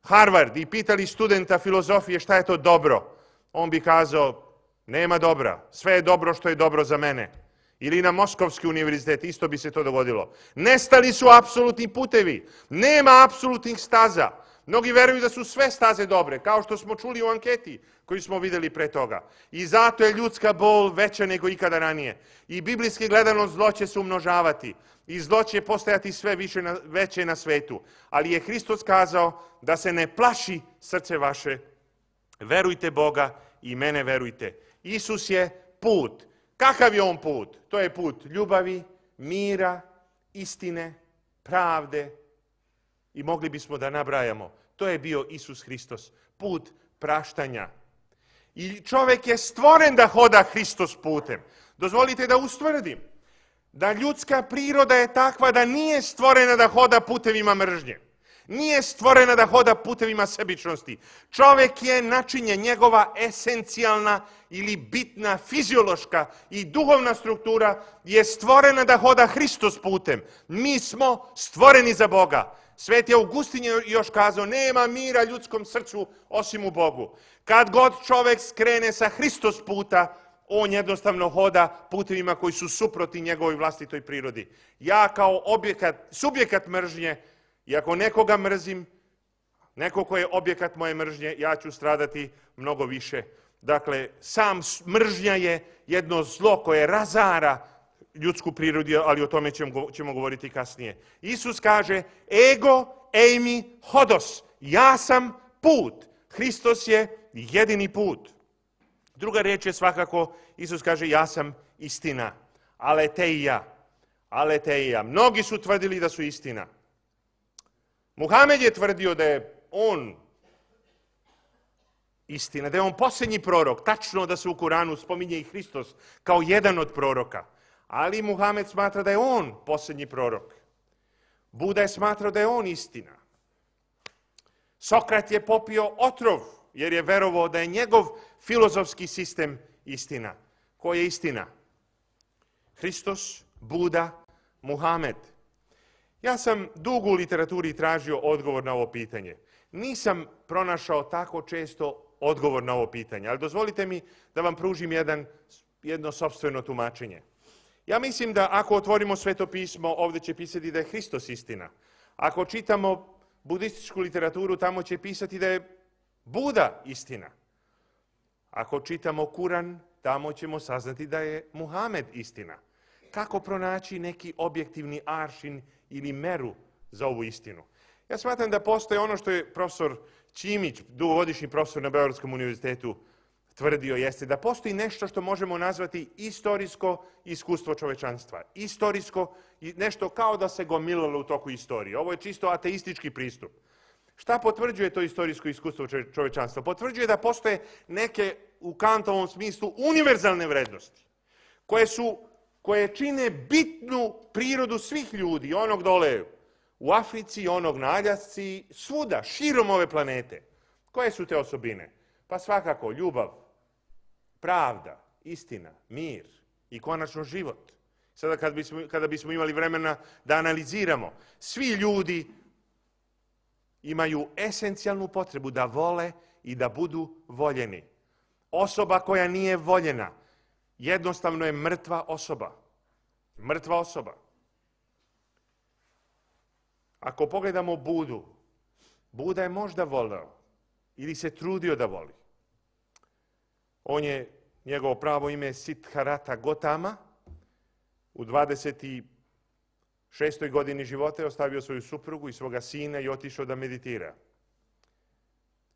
Harvard i pitali studenta filozofije šta je to dobro, on bi kazao, nema dobra, sve je dobro što je dobro za mene. Ili na Moskovski univerzitet, isto bi se to dogodilo. Nestali su apsolutni putevi, nema apsolutnih staza. Mnogi veruju da su sve staze dobre, kao što smo čuli u anketi koju smo vidjeli pre toga. I zato je ljudska bol veća nego ikada ranije. I biblijski gledano zlo će se umnožavati. I zlo će postajati sve više na, veće na svetu. Ali je Hristos kazao da se ne plaši srce vaše. Verujte Boga i mene verujte. Isus je put. Kakav je on put? To je put ljubavi, mira, istine, pravde. I mogli bismo da nabrajamo. To je bio Isus Hristos. Put praštanja. I čovjek je stvoren da hoda Hristos putem. Dozvolite da ustvrdim da ljudska priroda je takva da nije stvorena da hoda putevima mržnje. Nije stvorena da hoda putevima sebičnosti. Čovjek je načinjen, njegova esencijalna ili bitna fiziološka i duhovna struktura je stvorena da hoda Hristos putem. Mi smo stvoreni za Boga. Sveti Augustin je još kazao, nema mira ljudskom srcu osim u Bogu. Kad god čovjek skrene sa Hristos puta, on jednostavno hoda putevima koji su suprotni njegovoj vlastitoj prirodi. Ja kao objekat, subjekat mržnje, i ako nekoga mrzim, neko ko je objekat moje mržnje, ja ću stradati mnogo više. Dakle, sam mržnja je jedno zlo koje razara ljudsku prirodu, ali o tome ćemo, ćemo govoriti kasnije. Isus kaže, ego eimi hodos, ja sam put. Hristos je jedini put. Druga riječ je svakako, Isus kaže, ja sam istina. Aleteia. Aleteia. Mnogi su tvrdili da su istina. Muhamed je tvrdio da je on istina, da je on posljednji prorok. Tačno da se u Kuranu spominje i Hristos kao jedan od proroka. Ali Muhamed smatra da je on posljednji prorok. Buda je smatrao da je on istina. Sokrat je popio otrov, jer je verovao da je njegov filozofski sistem istina. Ko je istina? Hristos, Buda, Muhamed. Ja sam dugo u literaturi tražio odgovor na ovo pitanje. Nisam pronašao tako često odgovor na ovo pitanje, ali dozvolite mi da vam pružim jedan, jedno sopstveno tumačenje. Ja mislim da ako otvorimo Sveto pismo, ovdje će pisati da je Hristos istina. Ako čitamo budističku literaturu, tamo će pisati da je Buda istina. Ako čitamo Kuran, tamo ćemo saznati da je Muhamed istina. Kako pronaći neki objektivni aršin ili meru za ovu istinu? Ja smatram da postoje ono što je profesor Ćimić, dugogodišnji profesor na Beogradskom univerzitetu, tvrdio, jeste da postoji nešto što možemo nazvati istorijsko iskustvo čovečanstva. Istorijsko, nešto kao da se gomilalo u toku istorije. Ovo je čisto ateistički pristup. Šta potvrđuje to istorijsko iskustvo čovečanstva? Potvrđuje da postoje neke, u Kantovom smislu, univerzalne vrednosti, koje su koje čine bitnu prirodu svih ljudi, onog dole u Africi, onog na Aljasci, svuda, širom ove planete. Koje su te osobine? Pa svakako ljubav, pravda, istina, mir i konačno život. Sada kad bismo, kada bismo imali vremena da analiziramo, svi ljudi imaju esencijalnu potrebu da vole i da budu voljeni. Osoba koja nije voljena jednostavno je mrtva osoba. Mrtva osoba. Ako pogledamo Budu, Buda je možda voleo ili se trudio da voli. On je, njegovo pravo ime Siddhartha Gautama, u dvadeset šestoj godini života je ostavio svoju suprugu i svoga sina i otišao da meditira.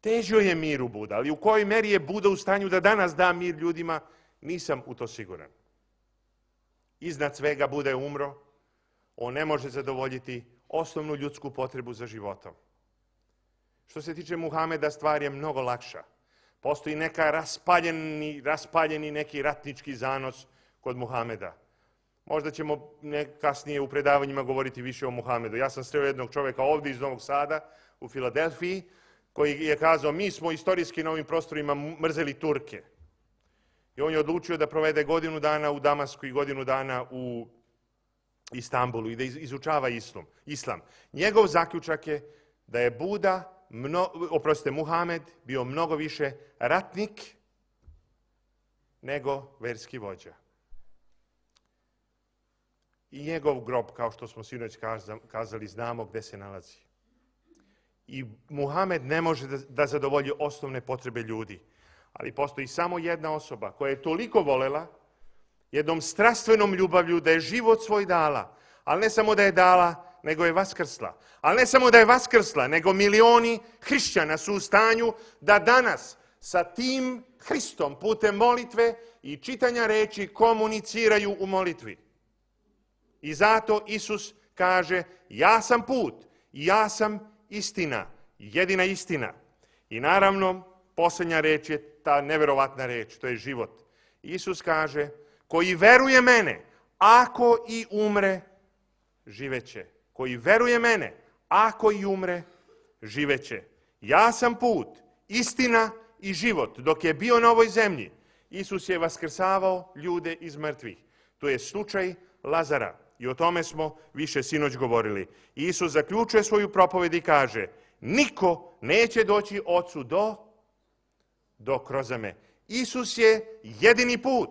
Težio je miru Buda, ali u kojoj meri je Buda u stanju da danas da mir ljudima, nisam u to siguran. Iznad svega Buda je umro. on ne može zadovoljiti osnovnu ljudsku potrebu za životom. Što se tiče Muhameda, stvar je mnogo lakša. Postoji neka raspaljeni, raspaljeni neki ratnički zanos kod Muhameda. Možda ćemo kasnije u predavanjima govoriti više o Muhamedu. Ja sam sreo jednog čovjeka ovdje iz Novog Sada, u Filadelfiji, koji je kazao, mi smo istorijski na ovim prostorima mrzeli Turke. I on je odlučio da provede godinu dana u Damasku i godinu dana u Istanbulu i da izučava islam. islam. Njegov zaključak je da je Buda, mno, oprostite, Muhamed, bio mnogo više ratnik nego verski vođa. I njegov grob, kao što smo sinoć kazali, znamo gde se nalazi. I Muhamed ne može da, da zadovolji osnovne potrebe ljudi. Ali postoji samo jedna osoba koja je toliko volela, jednom strastvenom ljubavlju, da je život svoj dala. Ali ne samo da je dala, nego je vaskrsla. Ali ne samo da je vaskrsla, nego milioni hrišćana su u stanju da danas sa tim Hristom putem molitve i čitanja reči komuniciraju u molitvi. I zato Isus kaže, ja sam put, ja sam istina, jedina istina. I naravno, posljednja reč je ta neverovatna reč, to je život. Isus kaže, koji veruje mene, ako i umre, živeće. Koji veruje mene, ako i umre, živeće. Ja sam put, istina i život. Dok je bio na ovoj zemlji, Isus je vaskrsavao ljude iz mrtvih. To je slučaj Lazara. I o tome smo više sinoć govorili. Isus zaključuje svoju propoved i kaže, niko neće doći Ocu do, do kroz me. Isus je jedini put.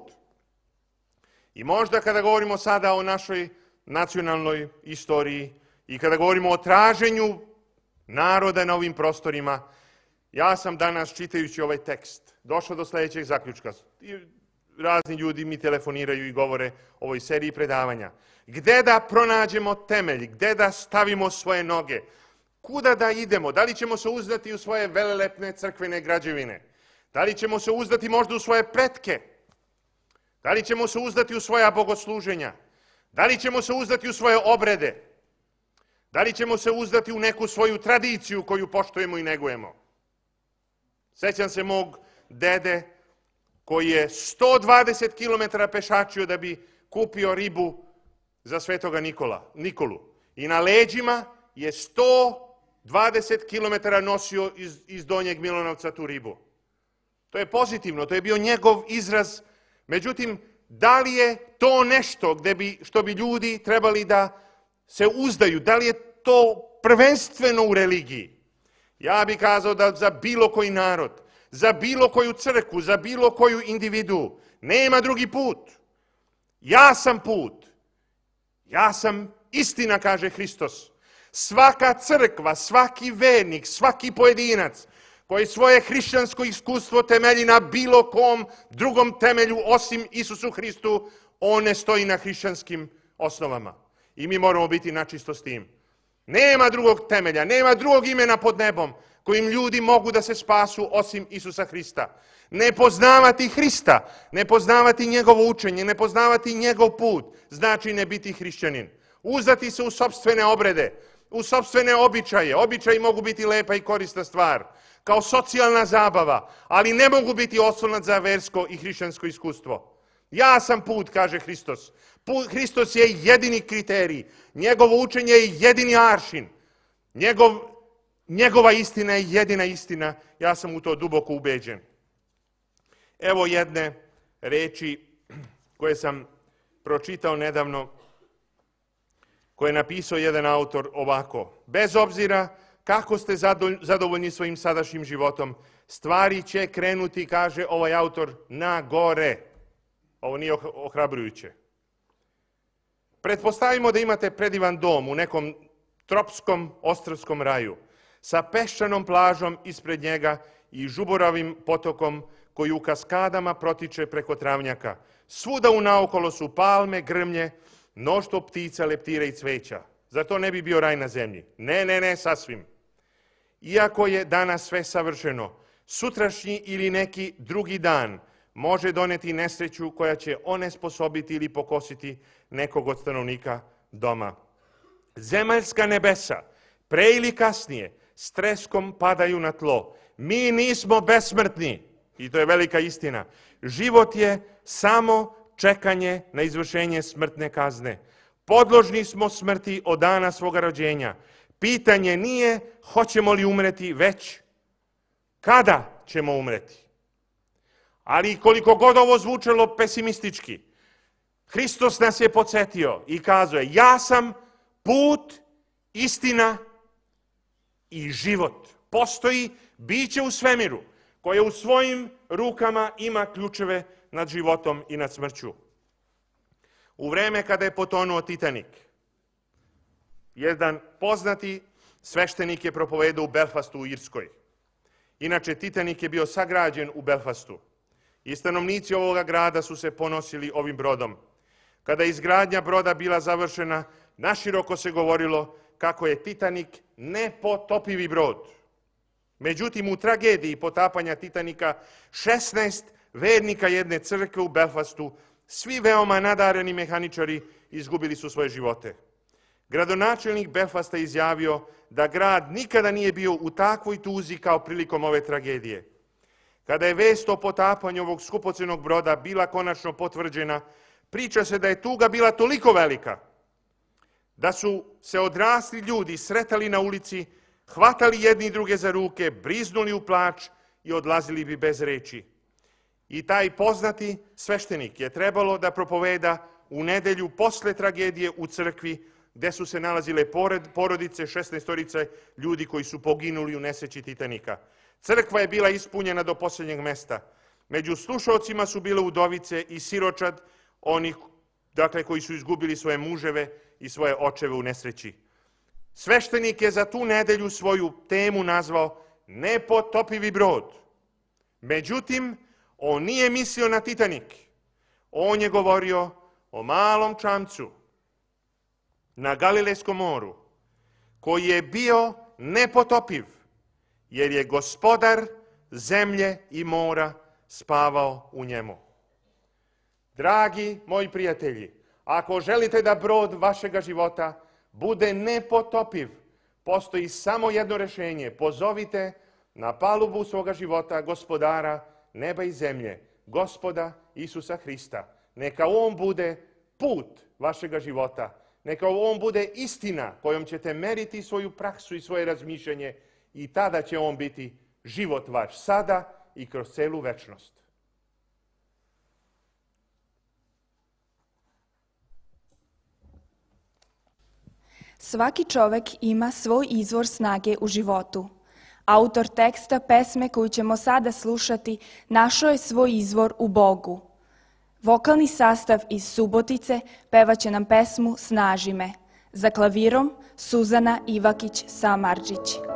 I možda kada govorimo sada o našoj nacionalnoj istoriji i kada govorimo o traženju naroda na ovim prostorima, ja sam danas, čitajući ovaj tekst, došao do sljedećeg zaključka. Razni ljudi mi telefoniraju i govore o ovoj seriji predavanja. Gde da pronađemo temelj, gde da stavimo svoje noge, kuda da idemo, da li ćemo se uzdati u svoje velelepne crkvene građevine, da li ćemo se uzdati možda u svoje pretke, da li ćemo se uzdati u svoja bogosluženja, da li ćemo se uzdati u svoje obrede, da li ćemo se uzdati u neku svoju tradiciju koju poštujemo i negujemo. Sećam se mog dede koji je sto dvadeset kilometara pešačio da bi kupio ribu za Svetoga Nikola, Nikolu. I na leđima je sto dvadeset kilometara nosio iz, iz Donjeg Milanovca tu ribu. To je pozitivno, to je bio njegov izraz. Međutim, da li je to nešto gde bi, što bi ljudi trebali da se uzdaju? Da li je to prvenstveno u religiji? Ja bih kazao da za bilo koji narod, za bilo koju crkvu, za bilo koju individu, nema drugi put. Ja sam put. Ja sam istina, kaže Hristos. Svaka crkva, svaki vernik, svaki pojedinac koji svoje hrišćansko iskustvo temelji na bilo kom drugom temelju osim Isusu Hristu, on ne stoji na hrišćanskim osnovama. I mi moramo biti načisto s tim. Nema drugog temelja, nema drugog imena pod nebom kojim ljudi mogu da se spasu osim Isusa Hrista. Ne poznavati Hrista, ne poznavati njegovo učenje, ne poznavati njegov put, znači ne biti hrišćanin. Uzdati se u sopstvene obrede, u sopstvene običaje. Običaji mogu biti lepa i korisna stvar, kao socijalna zabava, ali ne mogu biti oslonac za versko i hrišćansko iskustvo. Ja sam put, kaže Hristos. Put, Hristos je jedini kriterij. Njegovo učenje je jedini aršin. Njegov, njegova istina je jedina istina. Ja sam u to duboko ubeđen. Evo jedne reči koje sam pročitao nedavno, koje je napisao jedan autor ovako. Bez obzira kako ste zadovoljni svojim sadašnjim životom, stvari će krenuti, kaže ovaj autor, na gore. Ovo nije ohrabrujuće. Pretpostavimo da imate predivan dom u nekom tropskom ostrvskom raju, sa peščanom plažom ispred njega i žuboravim potokom koji u kaskadama protiče preko travnjaka. Svuda unaokolo su palme, grmlje, mnoštvo ptica, leptira i cveća. Zar to ne bi bio raj na zemlji? Ne, ne, ne, sasvim. Iako je danas sve savršeno, sutrašnji ili neki drugi dan može doneti nesreću koja će onesposobiti ili pokositi nekog od stanovnika doma. Zemaljska nebesa, pre ili kasnije, s treskom padaju na tlo. Mi nismo besmrtni, i to je velika istina. Život je samo čekanje na izvršenje smrtne kazne. Podložni smo smrti od dana svoga rođenja. Pitanje nije hoćemo li umreti, već kada ćemo umreti. Ali koliko god ovo zvučalo pesimistički, Hristos nas je podsjetio i kazao je: ja sam put, istina i život. Postoji biće u svemiru koje u svojim rukama ima ključeve nad životom i nad smrću. U vreme kada je potonuo Titanik, jedan poznati sveštenik je propovedao u Belfastu u Irskoj. Inače, Titanik je bio sagrađen u Belfastu i stanovnici ovoga grada su se ponosili ovim brodom. Kada je izgradnja broda bila završena, naširoko se govorilo kako je Titanik nepotopivi brod. Međutim, u tragediji potapanja Titanika, šesnaest vernika jedne crkve u Belfastu, svi veoma nadareni mehaničari, izgubili su svoje živote. Gradonačelnik Belfasta izjavio da grad nikada nije bio u takvoj tuzi kao prilikom ove tragedije. Kada je vest o potapanju ovog skupocenog broda bila konačno potvrđena, priča se da je tuga bila toliko velika da su se odrasli ljudi sretali na ulici, hvatali jedni druge za ruke, briznuli u plač i odlazili bi bez reči. I taj poznati sveštenik je trebalo da propoveda u nedelju posle tragedije u crkvi, gde su se nalazile pored porodice šesnaestorice ljudi koji su poginuli u nesreći Titanika. Crkva je bila ispunjena do posljednjeg mesta. Među slušalcima su bile udovice i siročad, onih dakle, koji su izgubili svoje muževe i svoje očeve u nesreći. Sveštenik je za tu nedelju svoju temu nazvao nepotopivi brod. Međutim, on nije mislio na Titanik. On je govorio o malom čamcu na Galilejskom moru, koji je bio nepotopiv, jer je gospodar zemlje i mora spavao u njemu. Dragi moji prijatelji, ako želite da brod vašega života bude nepotopiv, postoji samo jedno rešenje. Pozovite na palubu svoga života gospodara neba i zemlje, Gospoda Isusa Hrista. Neka on bude put vašega života. Neka on bude istina kojom ćete meriti svoju praksu i svoje razmišljanje i tada će on biti život vaš sada i kroz celu večnost. Svaki čovek ima svoj izvor snage u životu. Autor teksta pesme koju ćemo sada slušati našao je svoj izvor u Bogu. Vokalni sastav iz Subotice pevaće nam pesmu Snaži me. Za klavirom Suzana Ivakić-Samardžić.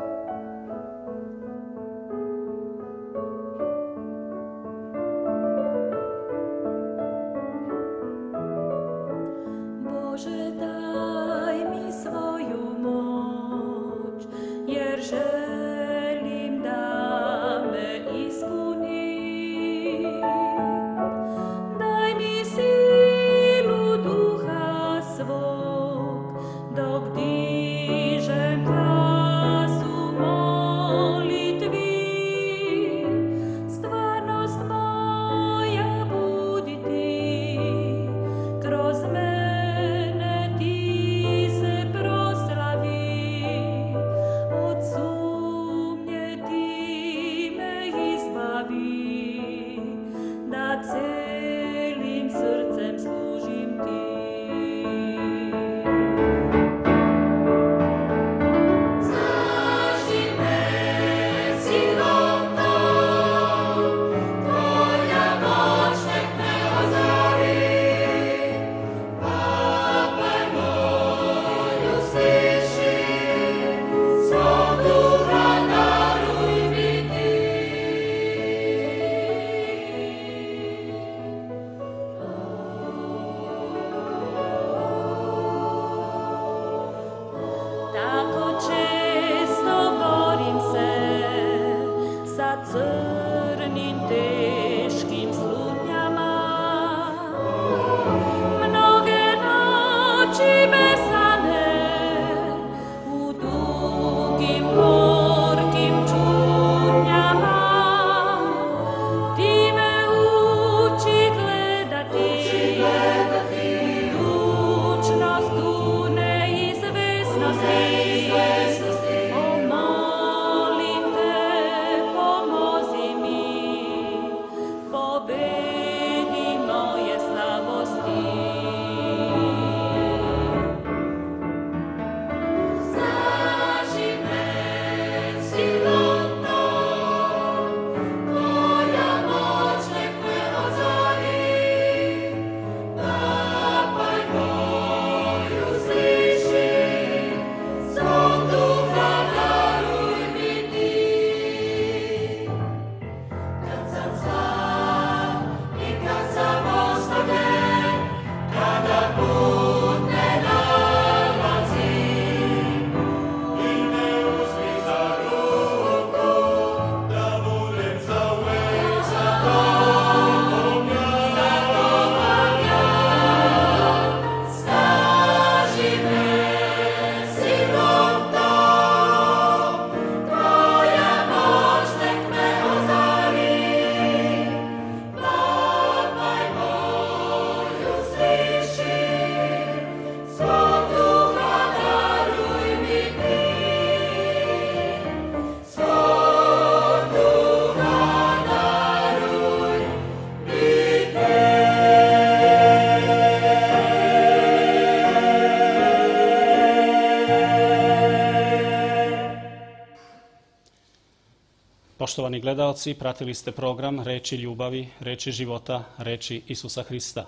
Poštovani gledaoci, pratili ste program Reči ljubavi, Reči života, Reči Isusa Hrista.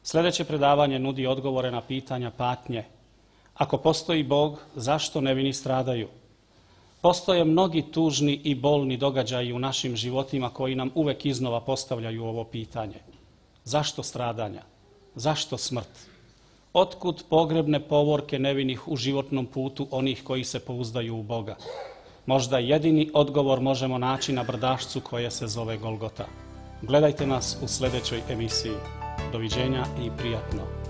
Sljedeće predavanje nudi odgovore na pitanja patnje. Ako postoji Bog, zašto nevini stradaju? Postoje mnogi tužni i bolni događaji u našim životima koji nam uvek iznova postavljaju ovo pitanje. Zašto stradanja? Zašto smrt? Otkud pogrebne povorke nevinih u životnom putu onih koji se pouzdaju u Boga? Možda jedini odgovor možemo naći na brdašcu koje se zove Golgota. Gledajte nas u sljedećoj emisiji. Doviđenja i prijatno.